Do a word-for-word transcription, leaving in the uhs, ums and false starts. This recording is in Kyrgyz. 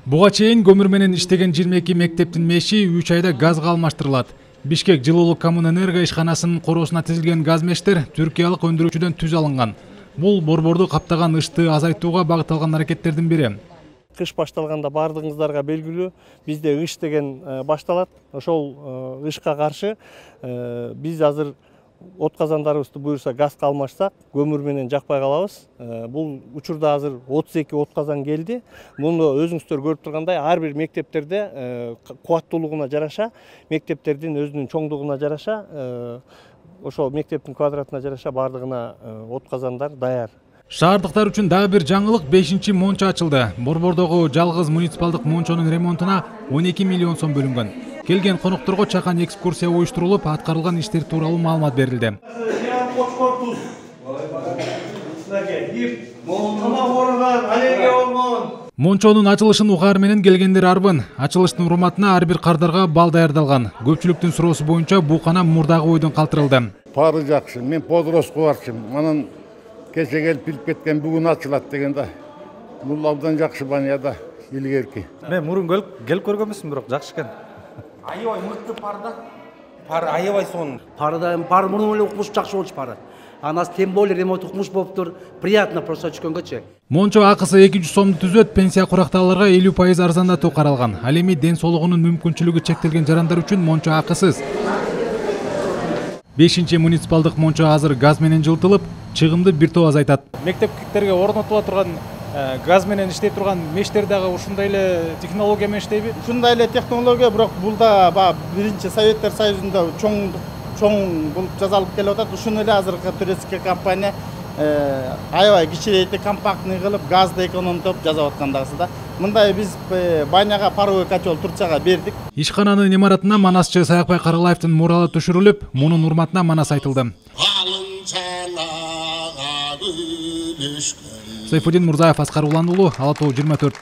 Буга чейин көмүр менен иштеген жыйырма эки мектептин меши үч айда газга алмаштырылат. Бишкек жылуулук коммунэнерго ишканасынын короосуна тизилген газ мештер түркиялык өндүрүүчүдөн түз алынган. Бул борборду каптаган ышты азайтууга багытталган аракеттердин бири. Кыш башталганда бардыгыңыздарга белгилүү, бизде ыш деген башталат. Ошол ышка каршы биз азыр от казандарыбызды буюрса газга алмашсак, көмүр менен жакпай калабыз. Бул учурда азыр отуз эки от казан келди. Муну өзүңүздөр көрүп тургандай, ар бир мектептерде кубаттуулугуна жараша, мектептердин өзүнүн чоңдугуна жараша, ошол мектептин квадратына жараша бардыгына от казандар даяр. Шаардыктар үчүн дагы бир жаңылык бешинчи мончо ачылды. Борбордогу жалгыз муниципалдык мончонун ремонтуна он эки миллион сом бөлүнгөн. Келген конокторго чакан экскурсия уюштурулуп, аткарылган иштер тууралуу маалымат берилди. Мончонун ачылышын угаар менен келгендер арбын. Ачылыштын урматына ар бир кардарга бал даярдалган. Көпчүлүктүн суроосу боюнча бул кана мурдагы бойдон калтырылды. Пары жакшы, мен подроска барчым. Анан кече келип билип кеткен бүгүн ачылат дегенде. Бул абдан жакшы баняда илгерки. Мен мурун келип көргөнмүсүн, бирок жакшы экен. Аябай мыкты парда. Пар аябай сонун. Парда пар мурун эле укмуш жакшы болчу пары. Анас тем более ремонт укмуш болуптур. Приятно просто түшкөнгөчү. Мончо акысы эки жүз сомду түзөт, пенсия курактагыларга элүү пайыз арзандатуу каралган. Ал эми ден соолугунун мүмкүнчүлүгү чектелген жарандар үчүн мончо акысыз. бешинчи муниципалдык мончо азыр газ менен жылытылып, чыгымды бир топ азайтат. Мектептерге орнотула турган газ менен иштей турган мештер дагы ушундай эле технология менен иштейби? Ушундай эле технология, бирок бул да баягы биринчи Советтер Союзунда чоң чоң болуп жасалып келип атат. Ушуну эле азыркы турецкий компания аябай кичирейтип, компактный кылып, газды экономдоп жасап аткан дагысы да. Мындай биз баняга паровой котел Турцияга бердик. Ишкананын имаратына манасчы Саякбай Каралаевдин муралы түшүрүлүп, мунун урматына манас айтылды. Сайфуддин Мурзаев, Аскар Улан уулу, Ала Тоо жыйырма төрт.